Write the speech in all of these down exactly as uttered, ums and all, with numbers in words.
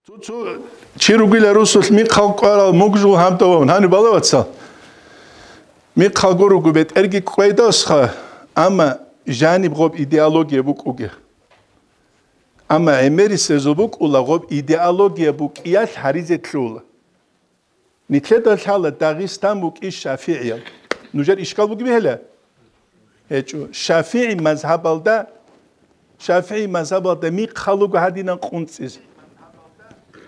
Цо-цо чи ругила русулъ михъал кӀварал мугжул гьабдавун гьаниб бала, вацал. Михъалго руго бетӀерги кӀведасха, амма жаниб гъоб идеология букӀуге. Амма гӀемерисезул букӀула гъоб идеология букӀиялъ гьаризе лъугьула. Нилъеда лъала Дагъистан букӀин шафигӀиял. Нужер ишкал бугеб гьела? ГьечӀо. ШафигӀи мазгьабалда, ШафигӀи мазгьабалда михъал руго гьадинан къунцӀизе.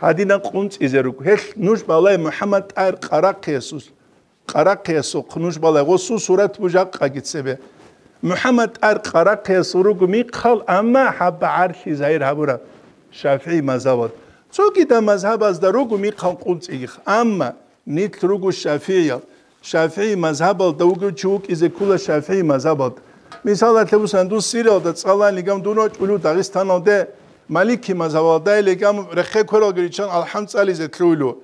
Гьадинан къунцӀизе руго. Гьелъ нуж балай МухӀаммад ТӀагьир Къарахъиясул, Къарахъиясухъ нуж балай гъосул сурат бужакъаги цебе. МухӀаммад ТӀагьир Къарахъиясул руго михъал, амма хӀаба гӀарлъи загьир гьабураб ШафигӀи мазгьабалда. Цогидаб мазгьабазда руго михъал къунцӀигих, амма нилъ руго шафигӀиял. ШафигӀи мазгьабалда вугев чи вукӀизе ккола шафигӀи мазгьабалда. Мисалалъе бусани, дун Сириялда цӀаланилигам дун вачӀулев Дагъистаналде, Малики мазгьабалда илигам рехе квералги риччан алхӀам цӀализе лъугьулев.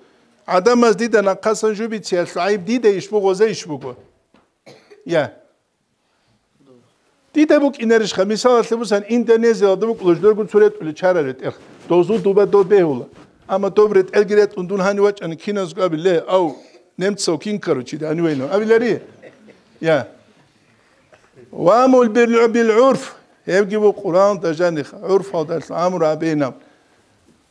ГӀадамаз дида нахъасан жубициялъул гӀайиб дида иш буго, гъозе иш буго? Я. Дида букӀинарищха? Мисалалъе бусани, Индонезиялда букӀула жидерго цо ретӀулел чара ретӀел. Дозул дуба доб бегьула. Амма доб ретӀелги ретӀун дун гьанив вачӀани, киназго абила: «Ав, немцав кин, короче, да, гьанив вайнав», абилари? Я. «Ваамур бил-, бил-гӀурф», гьебги бу Къуръаналда жаниха, гӀурфалдалъун амру гьабейилан.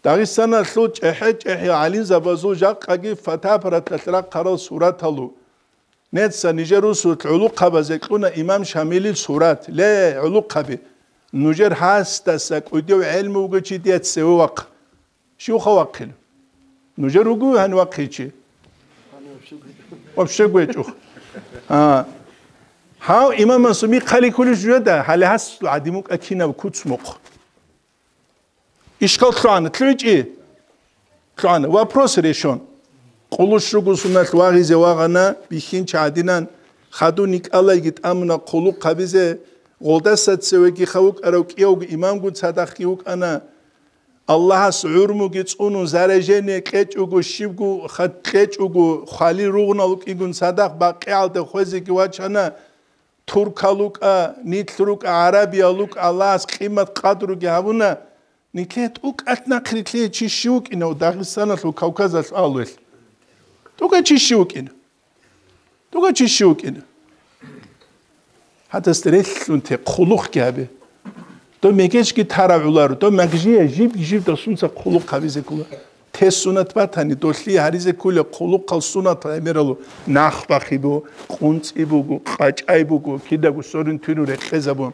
Дагъистаналъул чӀехӀе-чӀехӀиял гӀалимзабазул жакъаги фотоаппараталъ рахъарал сураталу. Нецца нижер русулъ гӀулухъабазе кьуна имам Шамилил сурат. Ле, гӀулухъаби! Нужер гьасдаса кӀудияв гӀелму вугев чи дие цеве вахъа. Щивха вахъила? Нужер вуго гьанив вахъичи? Вообще гьечӀо. А. Гьав имам Мансур михъали кколищ жо да, гьале гьасул гӀадин вукӀа кинаб куц мухъ. Ишкал лъугӀана, лъугӀичӀищ? ЛъугӀана. Вопрос решен. Къулущ руго суналъ вагъизе вагъана, бихьинчи гӀадинан, хадув никӀалайги тӀамуна хъулухъ гьабизе, гъолдаса цевегиха вукӀарав кӀиявго имамгун цадахъги вукӀана. Аллагьас гӀурмуги цӀунун, заражение кьечӀого, щибго хат кьечӀого, хвалил ругъунал вукӀигун цадахъ бакъигӀалде хвезеги вачана. Туркал рукӀа, нилъ рукӀа, гӀарабиял рукӀа, Аллагьас къимат-къадруги гьабуна. Нилъее тӀокӀалъ нахърилълъи чи щив вукӀинав Дагъистаналъул, Кавказалъул агьлуялъ? ТӀокӀав чи щив вукӀина? ТӀокӀав чи щив вукӀина? Гьадасда релълъун те, хъулухъги гьабе. Дов мегечги тарав гӀоларо, дов магжия жиб-жиб досунца хъулухъ гьабизе ккола. Те сунат батани, долъие гьаризе кколеб хъулухъал сунатал гӀемералъул нах бахъи буго, къунцӀи буго, къачӀай буго, кидаго сорин-туйнун рекъезабун.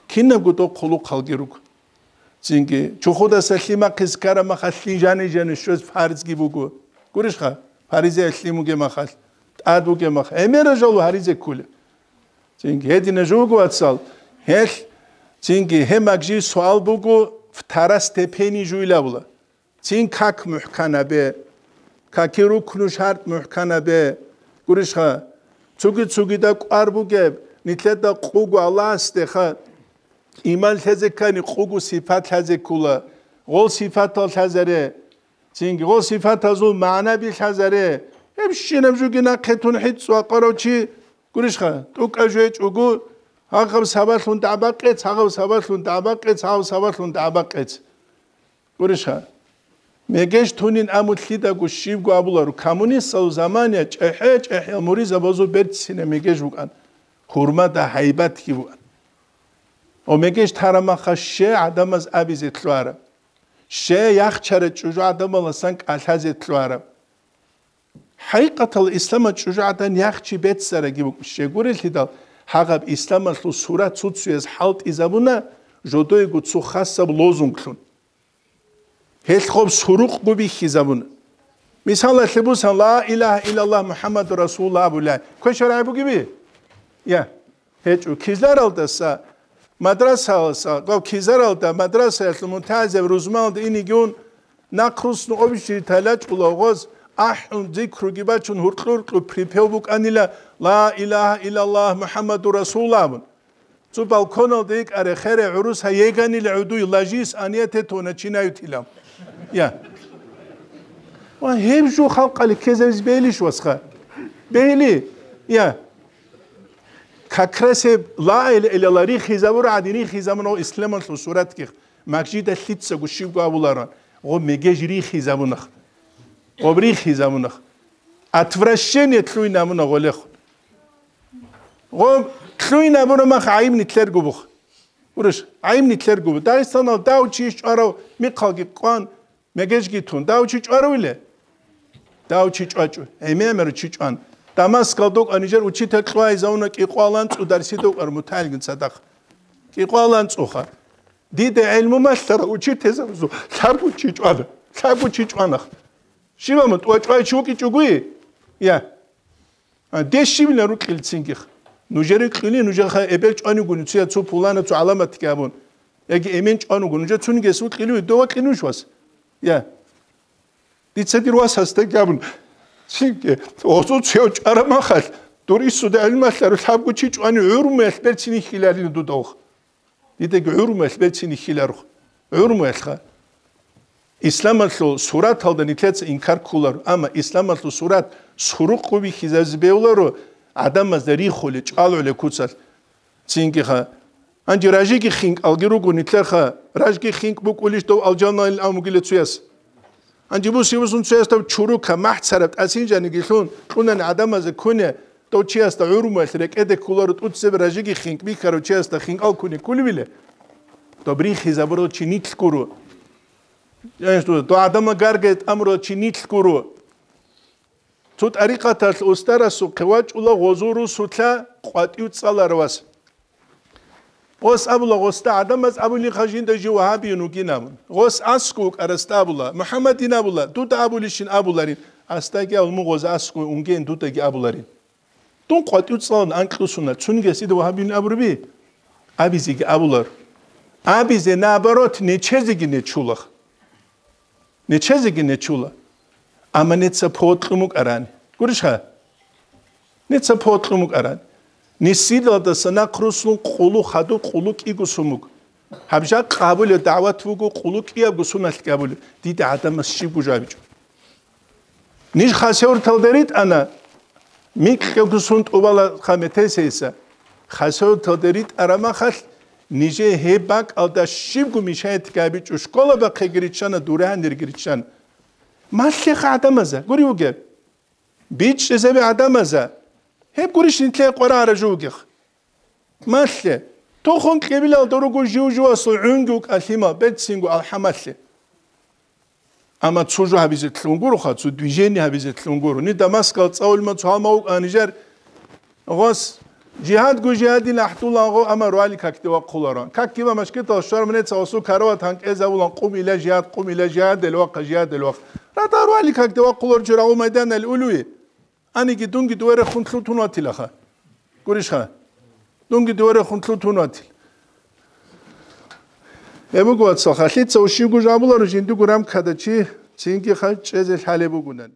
Кинабго дов хъулухъалги руго. Цинги, чухудаса лъимахъе ккараб махалъ лъим жани-жани щвез фарзги буго. Гурищха, фаризеялъ лъим бугеб махалъ, тӀад бугеб махалъ, гӀемерал жал гьаризе ккола. Цинги, гьединаб жо буго, вацал, гьелъ, цинги, гьеб магжи суал буго, второстепенный жуйилан абула. Цин как мухӀканабе, каки рукну шартӀ мухӀканабе. Гурищха, цуги-цугида кӀвар бугеб, нилъеда къуго Аллагьасдеха иман лъезе ккани, къуго сипат лъазе ккола, гъол сипатал лъазаре, цинги гъол сипатазул магӀнаби лъазаре. Гьебщинаб жуги нахъе тун хӀицӀ вакъарав чи, гурищха, тӀокӀав жо гьечӀого, гьагъаб сабаблъун дагӀба къец, гьагъаб сабаблъун дагӀба къец, гьагъаб сабаблъун дагӀба къец. Гурищха, мегеж тунин аму лъидаго щибго абуларо, коммунистал замания чӀехӀе-чӀехӀиял муризабазул берцинаб мегеж букӀан, гьурмада гьайбатги букӀан. Ва мегеж тарамаха ще гӀадамаз абизе лъугьараб, ще яхчара чӀужу гӀадамаласан кӀалъазе лъугьараб. ХӀакъикъатал исламалъ чӀужугӀадан яхчи беццараги букӀун щегурелъидал, гьагъаб исламалъул сурат цуцуяз хӀалтӀизабуна жодойго цо хасаб лозунглъун. Гьелъ гъоб сурукъго бихьизабуна. Мисалалъе бусан, «Ла илагьа иллаллагь МухӀаммадур Расулуллагь» абулай. Квешарай бугеби? Я. ГьечӀо, кизаралдаса, мадрасаласа, гъав кизаралда, мадрасаялъул мунтазаб рузманалда инигун, нахъ русну обищри талачӀула гъоз, ахӀун, зикруги бачун, гьуркьу-гьуркьу припев букӀанила, «Ла илагьа иллаллагь МухӀаммадур Расулуллагь» абун. Цо балконалда йикӀаре, хере гӀурус гьай еганила гӀодуй, ложись, а не это то начинают илан. Я. Ва гьеб жо халкъалъе ккезабизе бегьилищ, васха? Бегьили? Я. Как раз гьеб ла илагьа иллаллагь рихизабура гӀадин рихизабуна исламалъул суратги. Масжида лъицаго щибго абуларан. Гъоб мегеж рихизабунах. Гъоб рихизабунах. Отвращение лъугьин абуна гъолехун. Гъоб лъугьин абуна мах гӀайиб нилъерго бух. Гурищ, гӀайиб нилъерго бух. Дагъистанал дав чи иш чӀварав михъалги кӀван, мегежги тун. Дав чи чӀваравиле? Дав чи чӀвачӀо. ГӀемер чи чӀван. Дамаскалда вукӀа нижер учитель кьвайзавуна кӀикъвалан цӀударси докӀар муталгин цадахъ. КӀикъвалан цӀуха. Дида гӀелму малъара учительзабазул лъабго чи чӀвана. Лъабго чи чӀванах. Щиб абун, тӀвачӀвай чи вукӀичӀогуи? Я. А, дес щибила рукьил цинги? Нужере кьули, нужеха эбел чӀванигуни, цуя цо пулана, цо гӀаламатги абун. Яги эмен чӀвануго, нужер цунигес вукьилуи, дова кьинуш вас? Я. Дица дир вас гьасдаги абун. Цинги, осо цев чӀарамахал, дур иссуда гӀилмалъару лъабго чи чӀвани гӀурмуялъ берцин ихьиларин дудавх. Дидаги гӀурмуялъ берцин ихьиларухъ. ГӀурмуялъха. Исламалъул сураталда нилъеца инкар кколаро, амма исламалъул сурат сурукъ бихьизазе бегьуларо, гӀадамазда рихули, чӀвалгӀули куцалъ. Цинкиха. Гьанже ражиги хинкӀалги руго нилъерха, ражги хинкӀ букӀулищ дов алжаналил амугила цуяс. Гьанже буси-бусун цоясда чурука, махӀцараб тӀасинжаниги лъун, кьунани гӀадамазе ккуне, дов чиясда гӀурмуялъ рекӀеде кколаро тӀуцебе ражиги хинкӀ бихьарав чиясда хинкӀал ккуне кколевиле? Доб рихизабурал чи нилъ гуро. Дов гӀадамал гаргай тӀамурал чи нилъ гуро. Цо тӀарикъаталъ устарасухъе вачӀула гъозул русулъа къватӀив цӀаларав вас. Гъос абула, гъосда гӀадамаз абулинха жинда жив вагьабиюн вугин абун. Гъос аскӀов вукӀарасда абула, МухӀаммадин абула, дуда абулищин абуларин. Асдаги абул, мун гъоза аскӀов унгеян дудаги абуларин. Дун къватӀив цӀалан анкьусуна, цунигес дида вагьабиюн абураби? Абизеги абулар. Абизе, наоборот, нечезеги нечулах. Нечезеги нечула. Амма неца погьотлъун букӀарани. Гурищха? Неца погьотлъун букӀарани. Нисилалдаса нахъ руслун къулу хадуб, къулу кӀиго сумуг. Гьаб жакъа гьабулеб дагӀват буго, къулу кӀиябго суналъ гьабулеб. Дида гӀадамас щибго жабичӀо. Ниж Хасавюрталда ритӀана, микьго сун тӀубала хаметесейса. Хасавюрталда ритӀарамахалъ, нижее гьеб бакӀалда щибго мешаятги гьабичӀо, школа бахъеги риччана, дураниреги риччана. Малъеха гӀадамаза, гури вугеб. БичӀчӀизаби гӀадамаза. Гьеб гурищ нилъее къварагӀара жугьухъ. Малъе. Тухум кьибилалда руго жив-живасул гӀунги вукӀа лъимал, берцинго алхӀамалъе. Амма цо жо гьабизе лъун гуроха, цо движение гьабизе лъун гуро. Ни Дамаскал цӀалулма цо гьалма вукӀа нижер гъос. Жигьадгу жигьадил ахӀдулан гъо, амма руали какде вахъуларо. Какги ва машкитал щварманеца гъосул карават гьанкӀезавулан, къум ила жигьад, къум ила жигьад, элвахъа жигьад, элвахъ. Рада руали какде вахъулар жо рагъу майданал улуи. Аниги дунги дуверехун лъутун ватилаха. Гурищха? Дунги дуверехун лъутун ватил. Гьеб буго, вацал, халлъица ущивго жабуларо жиндиго рамкада чи цинги хъа чӀезе лъалеб бугунан.